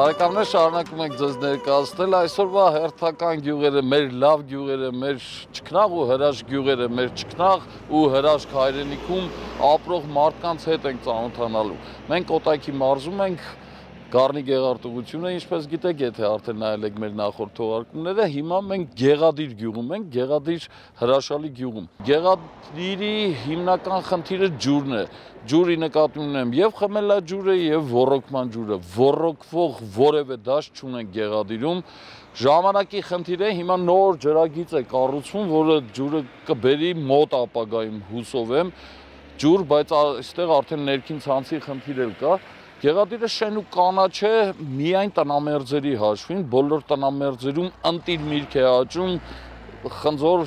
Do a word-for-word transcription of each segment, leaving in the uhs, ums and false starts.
Բարեկամներ, շարունակում ենք ձեզ ներկայացնել այսօրվա հերթական գյուղերը, մեր լավ գյուղերը, մեր ճկնաղ ու հրաշք գյուղերը, մեր ճկնաղ ու հրաշք հայրենիքում ապրող մարդկանց հետ ենք ծանոթանալու։ Մենք Կոտայքի մարզում ենք, Գառնի գեղարտուղությունը, ինչպես գիտեք, եթե արդեն նայել եք մեր նախորդ թողարկումները, հիմա մենք Գեղադիր գյուղում ենք, Գեղադիր հրաշալի գյուղում։ Գեղադիրի հիմնական խնդիրը ջուրն է։ Ջուրի նկատի ունեմ եւ խմելաջուրը եւ ոռոգման ջուրը։ Ոռոգվող որևէ դաշտ չունենք Գեղադիրում։ Ժամանակի խնդիր է, հիմա նոր ջրագիծ է կառուցվում, որը ջուրը կբերի մոտ ապագայում հուսով եմ ջուր, բայց այստեղ արդեն ներքին ցանցի խնդիր էլ կա։ Գեղադիրը շեն ու կանաչ է միայն տնամերձերի հաշվին, բոլոր տնամերձերում ընտիր միրգ է աճում, խնձոր,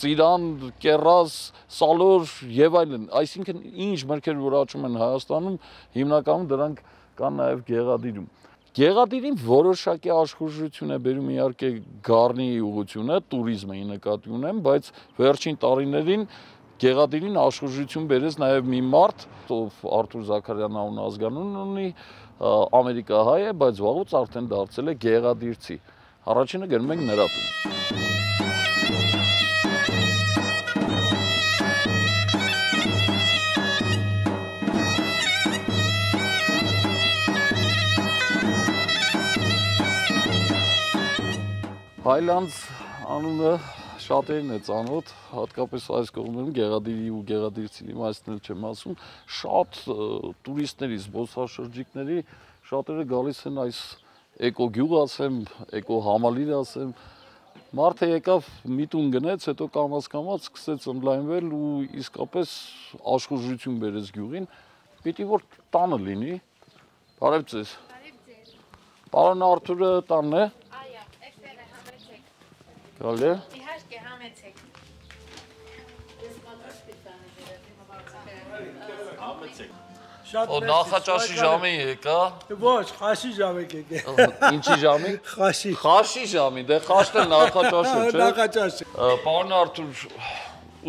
ծիրան, կեռազ, սալոր եւ այլն, այսինքն ինչ մրգեր որ աճում են Հայաստանում, հիմնականում դրանք կան նաեւ Գեղադիրում։ Գեղադիրին որոշակի աշխուժություն է բերում իհարկե Գառնի ուղղությունը, туриզմի նկատի ունեմ, բայց վերջին տարիներին Գեղադիրին աշխուժություն բերեց նաև մի մարդ, ով Արթուր Զաքարյան անուն ազգանուն ունի, ամերիկահայ է, բայց վաղուց արդեն դարձել է գեղադիրցի։ Առաջինը գնում ենք նրա տուն։ Հայլանդս անունը շատերին է ծանոթ, հատկապես այս կողմերում Գեղադիրի ու գեղադիրցիների մասին չեմ ասում, շատ տուրիստների, զբոսաշրջիկների շատերը գալիս են այս էկոգյուղ ասեմ, էկոհամալիր ասեմ, մարդը եկավ մի տուն գնեց, հետո կամաց-կամաց սկսեց ընդլայնվել ու իսկապես աշխուժություն բերեց գյուղին, պիտի որ տանը լինի, բարև ձեզ։ Պարոն Արթուրը տանն է։ Գալի է։ Իհարկե համեցեք։ Համեցեք։ Օ նախաճաշի ժամին եկա։ Ոչ, խաշի ժամին եկե։ Ինչի ժամին։ Խաշի։ Խաշի ժամին, դե խաշտը նախաճաշը, չէ։ Նախաճաշը։ Պարոն Արթուր,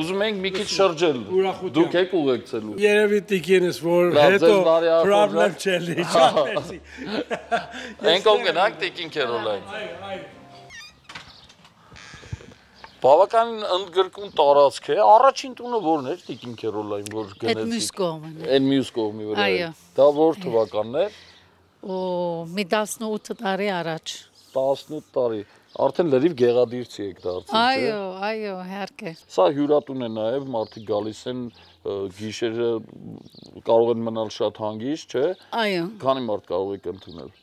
ուզում ենք մի քիչ շրջել։ Դուք եք ուղեկցելու։ Երևի տիկինս որ հետո պրոբլեմ չելի, շատ մերսի։ Ենքով գնանք տիկին Քերոլայն։ Այո, այո։ Բավականին ընդգրկուն տարածք է, առաջին տունը որն էր տիկին Քերոլայն, որ գնեցիք։ Այդ մյուս կողմն է։ Այն մյուս կողմի վրա։ Այո։ Դա որ թվականն է։ Օ, մի տասնութ տարի առաջ։ տասնութ տարի։ Արդեն լրիվ գեղադիրցի եք դարձել, չէ՞։ Այո, այո, իհարկե։ Սա հյուրատուն է նաև, մարդիկ գալիս են գիշերը կարող են մնալ շատ հանգիստ, չէ՞։ Այո։ Քանի մարդ կարող եք ընդունել։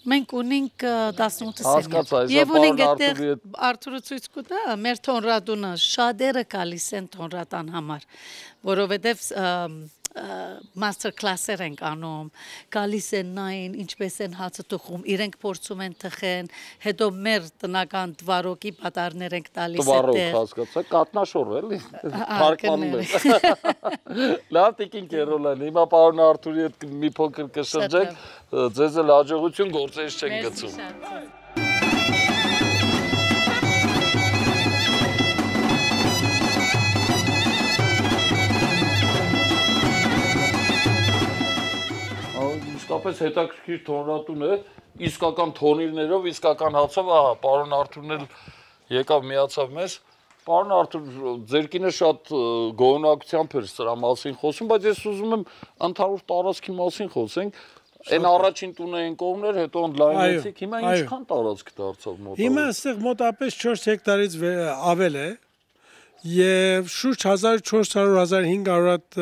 Մենք ունենք տասնութ Հասկացա, սենյակ։ այս Եվ ունենք այդտեղ Արթուրի հետ- Արթուրը ցույց կտա, մեր թոնրադունը շատերը գալիս են թոնրատան համար, որովհետև master class-եր ենք անում, գալիս են նային, ինչպես են հացը թխում, իրենք փորձում են թխեն, հետո մեր տնական դվարոկի պատարներ ենք տալիս Տվարոկ, այդտեղ։ հասկացա, կատնաշոր էլի, Ահա, թարգմանում եմ։ Լավ տիկին Քերոլայն, հիմա պարոն Արթուրի հետ մի փոքր կշրջենք, ձեզ էլ հաջողություն, գործերից չենք գցում։ Իսկապես հետաքրքիր թոնրատուն է, իսկական թոնիրներով, իսկական հացով, ահա, պարոն Արթուրն էլ եկավ միացավ մեզ։ Պարոն Արթուր, ձեր կինը շատ գոհունակությամբ էր սրա մասին խոսում, բայց ես ուզում եմ ընդհանուր տարածքի մասին խոսենք։ Այն առաջին տունը այն կողմներ, հետո ընդլայնեցիք, հիմա ինչքան տարածք դարձավ մոտավոր։ Հիմա այստեղ մոտապես չորս հեկտարից ավել է եւ շուրջ հազար չորս հարյուր - հազար հինգ հարյուր հատ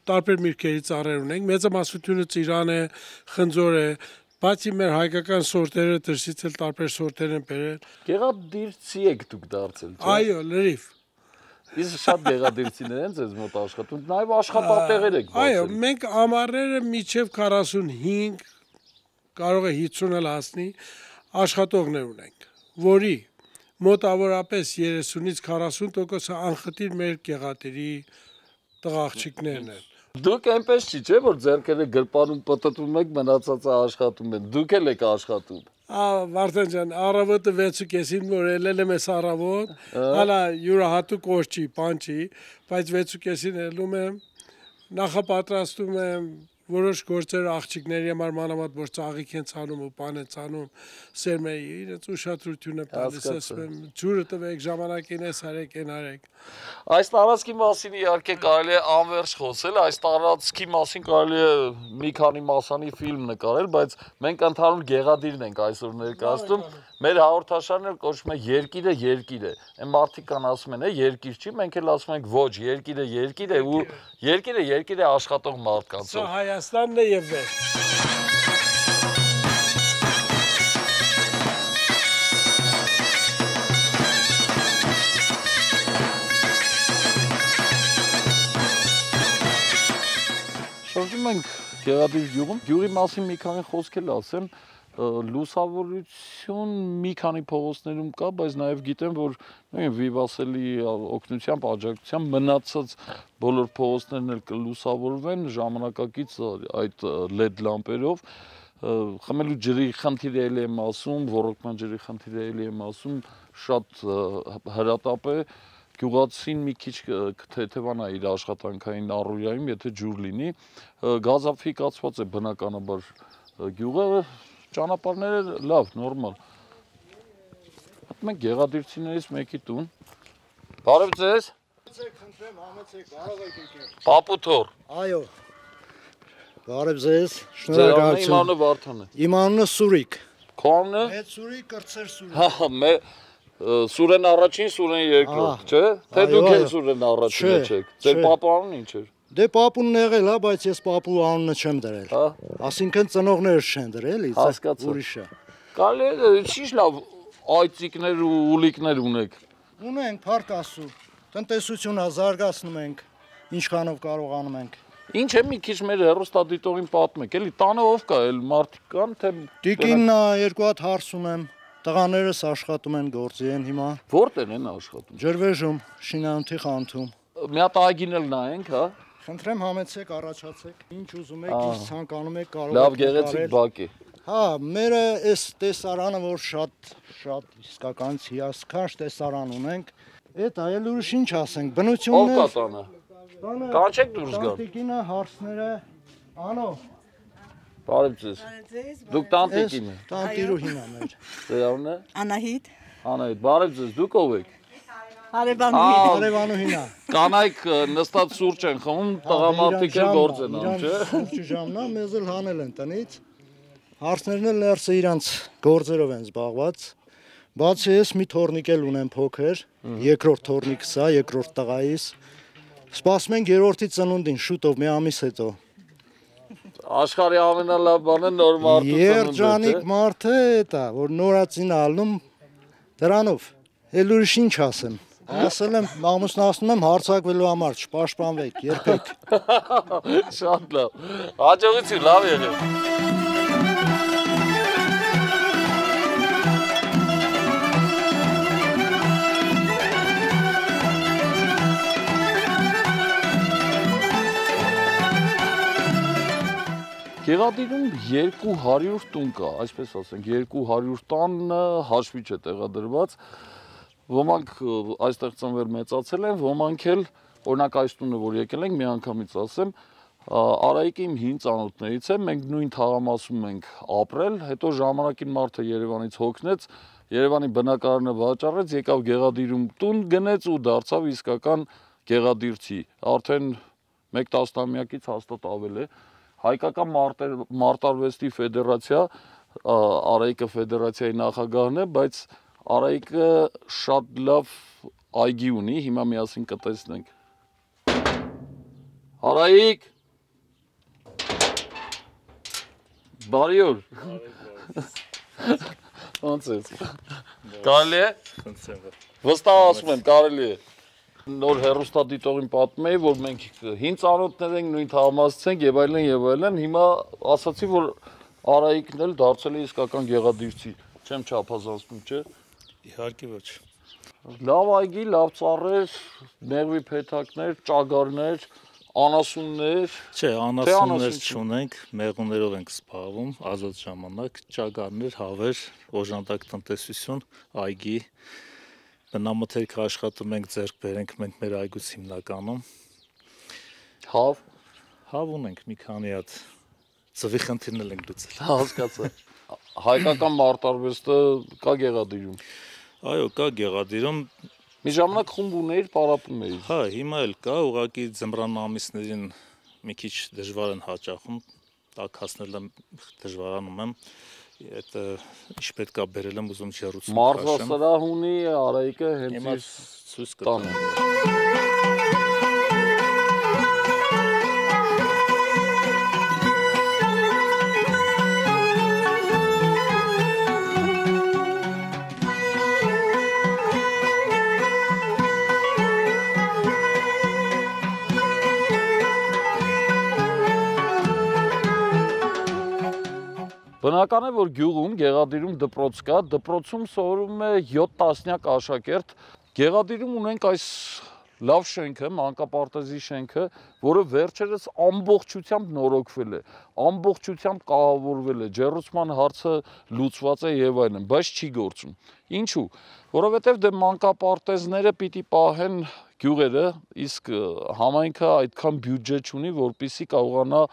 տարբեր միրգերի ծառեր ունենք, մեծամասնությունը ծիրան է, խնձոր է, բացի մեր հայկական սորտերը դրսից էլ տարբեր սորտեր են բերել։ Գեղադիրցի եք դուք դարձել, չէ՞։ Այո, լրիվ։ Իսկ շատ գեղադիրցիներ են ձեզ մոտ աշխատում, նաև աշխատատեղեր եք բացել։ Այո, մենք ամառները միջև քառասունհինգ, կարող է հիսուն էլ հասնի, աշխատողներ ունենք, որի մոտավորապես երեսունից քառասուն տոկոսը անխտիր մեր Գեղադիրի տղաղջիկներն են։ Դուք այնպես չի, չէ՞ որ ձեռքերը գրպանում պտտում եք, մնացածը աշխատում են։ Դուք էլ եք աշխատում։ Վարդան ջան, առավոտը վեցու կեսին որ ելել եմ ես առավոտ, հալա յուրահատուկ օր չի, բան չի, բայց վեցու կեսին ելում եմ, նախապատրաստում եմ, որոշ գործեր աղջիկների համար մանավանդ որ ծաղիկ են ցանում ու բան են ցանում սերմերի իրենց ուշադրությունը տալիս ասում եմ ջուրը տվեք ժամանակին էս արեք այն արեք Այս տարածքի մասին իհարկե կարելի է անվերջ խոսել այս տարածքի մասին կարելի է մի քանի մասանի ֆիլմ նկարել բայց մենք ընդհանուր գեղադիրն ենք այսօր ներկայացնում մեր հաղորդաշարն էլ կոչվում է երկիրը երկիր է այն մարդիկ կան ասում են է երկիր չի մենք էլ ասում ենք ոչ երկիրը երկիր է ու երկիրը երկիր է աշխատող մարդկանց Սա Հայաստանն է եւ վեր Շրջում ենք Գեղադիր գյուղում գյուղի մասին մի քանի խոսք էլ ասեմ լուսավորություն մի քանի փողոցներում կա, բայց նաև գիտեմ, որ նույն Վիվասելի օգնությամբ, աջակցությամբ մնացած բոլոր փողոցներն էլ կլուսավորվեն ժամանակակից այդ լեդ լամպերով, խմելու ջրի խնդիրը էլ եմ ասում, ոռոգման ջրի խնդիրը էլ եմ ասում, շատ հրատապ է, գյուղացին մի քիչ կթեթևանա իր աշխատանքային առօրյայում, եթե ջուր լինի, գազաֆիկացված է բնականաբար գյուղը Ճանապարհները լավ, նորմալ։ Հատում ենք գեղադիրցիներից մեկի տուն։ Բարև ձեզ։ Խնդրեմ, համեցեք, կարող եք եկել։ Պապու թոր։ Այո։ Բարև ձեզ։ Ձեր անունը Վարդան է։ Իմ անունը Սուրիկ։ Քո անունը։ Մեծ Սուրիկ, կրտսեր Սուրիկ։ Հա, մե Սուրեն առաջին, Սուրեն երկրորդ, չէ՞։ Թե դուք եք Սուրեն առաջինը չեք։ Ձեր պապա անունը ինչ էր։ Դե պապունն եղել, հա, բայց ես պապու անունը չեմ դրել։ Հա։ Այսինքն ծնողներս չեն դրել, Հասկացա։ ուրիշը։ Կարելի է ինչ լավ այծիկներ ու ուլիկներ ունեք։ Ունենք փառք Աստծո։ Տնտեսությունը զարգացնում ենք, ինչքանով կարողանում ենք։ Ինչ է մի քիչ մեր հեռուստադիտողին պատմեք, էլի տանը ով կա, էլ մարդիկ կան, թե Տիկինն է, երկու հատ հարս ունեմ։ Տղաներս աշխատում են, գործի են հիմա։ Որտե՞ղ են աշխատում։ Ջրվեժում, շինանյութի խանութում։ Մի հատ այգին էլ նայենք, հա։ Խնդրեմ համեցեք, առաջացեք, ինչ ուզում եք, ինչ ցանկանում եք, կարող Լավ գեղեցիկ բակ է։ Հա, մերը այս տեսարանը, որ շատ շատ իսկական հիասքանչ տեսարան ունենք, այդ այլ ուրիշ ինչ ասենք, բնությունն Ով կա տանը։ տանը Կանչեք դուրս գալ։ տանտիկինը, հարսները, անո, Բարև ձեզ։ Դուք տանտիկին եք։ տանտիրուհին է մեր։ Ձեր անունը։ Անահիտ, Անահիտ, բարև ձեզ, դուք ով եք։ հարևանուհի, Արևանուհին է։ Կանայք նստած սուրճ են խմում, տղամարդիկ էլ գործ են անում, չէ։ Սուրճի ժամն է, մեզ էլ հանել են տնից։ Հարսներն էլ ներսը իրանց գործերով են զբաղված։ Բացի ես մի թորնիկ էլ ունեմ փոքր, երկրորդ թորնիկս է, երկրորդ տղայիս։ Սպասում ենք երրորդի ծնունդին, շուտով մի ամիս հետո։ Աշխարհի ամենալավ բանը նոր մարդու ծնունդը։ Երջանիկ մարդը դա, որ նորածին ալնում դրանով։ Էլ ուրիշ ինչ ասեմ։ Ասել եմ, ամուսնացնում եմ հարցակվելու համար, չպաշտպանվեք, երբեք։ Շատ լավ։ Հաջողություն, լավ եղեք։ Գեղադիրում երկու հարյուր տուն կա, այսպես ասենք, երկու հարյուր տանը հաշվի չէ տեղադրված, ոմանք այստեղ ծնվել մեծացել են, ոմանք էլ, օրինակ այս տունը, որ եկել ենք, մի անգամից ասեմ, Արայիկը իմ հին ծանոթներից է, մենք նույն թաղամասում ենք ապրել, հետո ժամանակին մարդը Երևանից հոգնեց, Երևանի բնակարանը վաճառեց, եկավ Գեղադիրում տուն գնեց ու դարձավ իսկական գեղադիրցի, արդեն մեկ տասնամյակից հաստատ ավել է, Հայկական մարտարվեստի ֆեդերացիա, Արայիկը ֆեդերացիայի նախագահն է, բայց Արայիկը շատ լավ այգի ունի, հիմա միասին կտեսնենք։ Արայիկ։ Բարի օր։ Ոնց ես։ Կարելի է։ Վստահ ասում եմ, կարելի է։ Նոր հեռուստադիտողին պատմում էի, որ մենք հին ծանոթներ ենք, նույն թաղամասից ենք եւ այլն եւ այլն, հիմա ասացի, որ Արայիկն էլ դարձել է իսկական գեղադիրցի, չեմ չափազանցնում, չէ։ Իհարկե ոչ։ Լավ այգի, լավ ծառեր, մեղվի փեթակներ, ճագարներ, անասուններ։ Չէ, անասուններ չունենք, մեղուներով ենք զբաղվում, ազատ ժամանակ, ճագարներ, հավեր, օժանդակ տնտեսություն, այգի Հավ ունենք մի քանի հատ ծվի խնդիրներ ենք լուծել։ Հասկացա։ Հայկական մարտարվեստը կա Գեղադիրում։ Այո, կա Գեղադիրում։ Մի ժամանակ խումբ ուներ, պարապում էիր։ Հա, հիմա էլ կա, ուղղակի ձմռան ամիսներին մի քիչ դժվար են հաճախում, տակ հասնելը դժվարանում եմ։ Այդ ինչ պետք է բերել եմ ուզում ջեռուցում։ Մարզասրահ ունի Արայիկը հենց Հիմա իր ցույց տանը։ կտամ։ Բնական է, որ գյուղում, Գեղադիրում դպրոց կա, դպրոցում սովորում է յոթ տասնյակ աշակերտ։ Գեղադիրում ունենք այս լավ շենքը, մանկապարտեզի շենքը, որը վերջերս ամբողջությամբ նորոգվել է, ամբողջությամբ կահավորվել է, ջեռուցման հարցը լուծված է եւ այլն, բայց չի գործում։ Ինչու՞։ Որովհետեւ դե մանկապարտեզները պիտի պահեն գյուղերը, իսկ համայնքը այդքան բյուջե չունի, որպեսզի կարողանա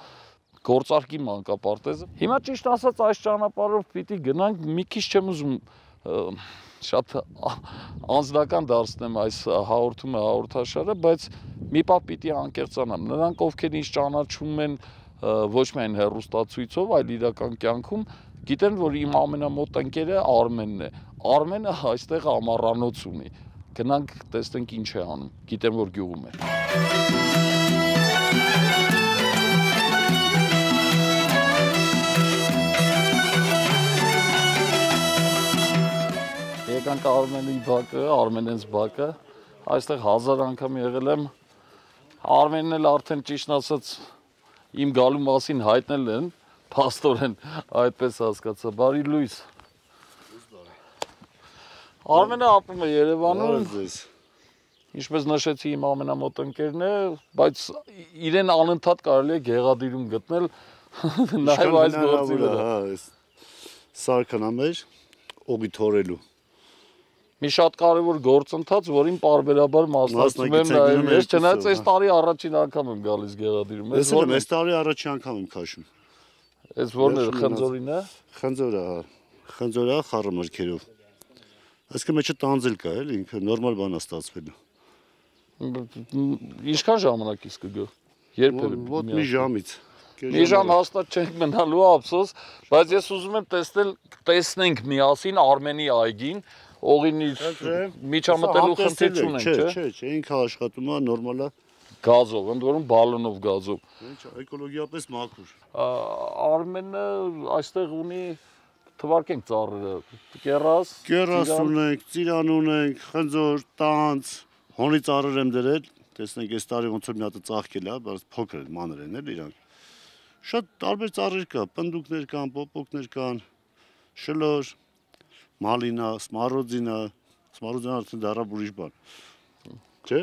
գործարկի մանկապարտեզը։ Հիմա ճիշտ ասած այս ճանապարհով պիտի գնանք, մի քիչ չեմ ուզում շատ անձնական դարձնեմ այս հաղորդումը, հաղորդաշարը, բայց մի պահ պիտի անկեղծանամ։ Նրանք, ովքեր ինձ ճանաչում են ոչ միայն հեռուստացույցով, այլ իրական կյանքում, գիտեն, որ իմ ամենամոտ ընկերը Արմենն է։ Արմենը այստեղ ամառանոց ունի։ Գնանք տեսնենք ինչ է անում։ Գիտեմ, որ գյուղում է։ Եկանք Արմենի բակը, Արմենենց բակը, այստեղ հազար անգամ եղել եմ, Արմենն էլ արդեն ճիշտ ասած իմ գալու մասին հայտնել են, փաստորեն այդպես հասկացա, բարի լույս։ Արմենը ապրում է Երևանում, ինչպես նշեցի իմ ամենամոտ ընկերն է, բայց իրեն անընդհատ կարելի է Գեղադիրում գտնել, նաև այս գործի վրա։ Սարքան ամեր, օգի թորելու։ Մի շատ կարևոր գործընթաց, որին պարբերաբար մասնակցում եմ նաև ես, չնայած այս տարի առաջին անգամ եմ գալիս Գեղադիրում։ Ես էլ եմ այս տարի առաջին անգամ եմ քաշում։ Այս որն է, խնձորին է։ Խնձորը, հա, խնձորը խառը մրգերով։ Այսինքն մեջը տանձել կա, էլի, ինքը նորմալ բան է ստացվելու։ Ինչքան ժամանակ իսկ կգա։ Երբևէ։ Ոտ մի ժամից։ Մի ժամ հաստատ չենք մնալու, ափսոս, բայց ես ուզում եմ տեսնել, տեսնենք միասին Արմենի այգին, օղին իր միջամտելու խնդիր չունենք, չէ։ Չէ, չէ, ինքը աշխատում է նորմալ է։ Գազով, ընդ որում բալոնով գազով։ Էկոլոգիապես մաքուր։ Արմենը այստեղ ունի թվարկենք ծառերը, կերաս, կերաս ունենք, ծիրան ունենք, խնձոր, տանց, հոնի ծառեր եմ դրել, տեսնենք այս տարի ոնց որ մի հատ ծաղկել է, բայց փոքր են, մանր են էլ իրանք։ Շատ տարբեր ծառեր կա, պնդուկներ կան, պոպոկներ կան, շլոր, մալինա, սմարոձինա, սմարոձինա արդեն դառավ ուրիշ բան։ Չէ՞։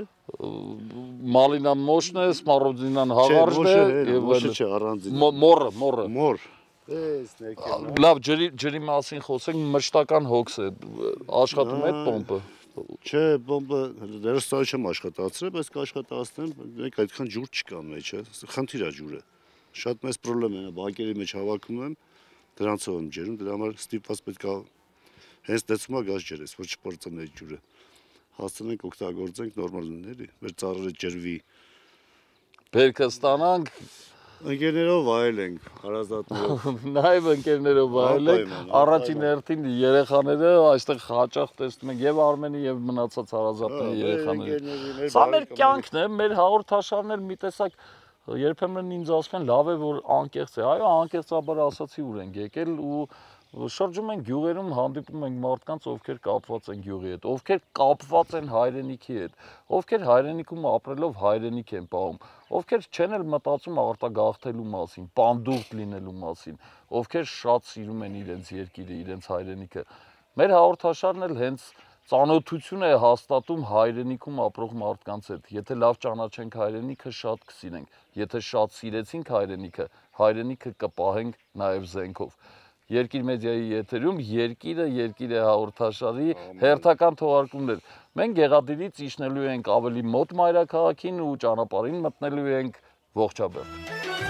Մալինան մոշն է, սմարոձինան հաղարժն է եւ մոշը չէ, առանձին։ Մորը, մորը։ Մոր։ Տեսնեք։ Լավ, ջրի ջրի մասին խոսենք, մշտական հոգս է, աշխատում է այդ պոմպը։ Չէ, պոմպը դեռ ստա չեմ աշխատացրել, բայց կաշխատացնեմ, մեկ այդքան ջուր չկա մեջը, խնդիր է ջուրը։ Շատ մեծ խնդրեմ է, բակերի մեջ հավաքում եմ, դրանցով եմ ջերում, դրա համար ստիպված պետք է հենց դեցումա գազ ջերես, որ չպրծնի այդ ջուրը։ Հասցնենք օգտագործենք նորմալ լինի, մեր ծառերը ջրվի։ Բերքը ստանանք, ընկերներով վայելենք, հարազատներով։ Նաև ընկերներով վայելենք, առաջին հերթին երեխաները այստեղ հաճախ տեսնում ենք եւ Արմենի եւ մնացած հարազատների երեխաները։ Սա մեր կյանքն է, մեր հաղորդաշարն էլ մի տեսակ երբեմն ինձ ասում են լավ է որ անկեղծ է, այո անկեղծաբար ասացի ուր ենք եկել ու շրջում ենք գյուղերում, հանդիպում ենք մարդկանց, ովքեր կապված են գյուղի հետ, ովքեր կապված են հայրենիքի հետ, ովքեր հայրենիքում ապրելով հայրենիք են պահում, ովքեր չեն էլ մտածում արտագաղթելու մասին, պանդուղտ լինելու մասին, ովքեր շատ սիրում են իրենց երկիրը, իրենց հայրենիքը։ Մեր հաղորդաշարն էլ հենց ծանոթություն է հաստատում հայրենիքում ապրող մարդկանց հետ։ Եթե լավ ճանաչենք հայրենիքը, շատ կսիրենք։ Եթե շատ սիրեցինք հայրենիքը, հայրենիքը կպահենք նաև զենքով։ Երկիր մեդիայի եթերում Երկիրը, Երկիր է հաղորդաշարի հերթական թողարկումներ։ Մենք Գեղադիրից իջնելու ենք ավելի մոտ մայրաքաղաքին ու ճանապարհին մտնելու ենք Ողջաբերդ։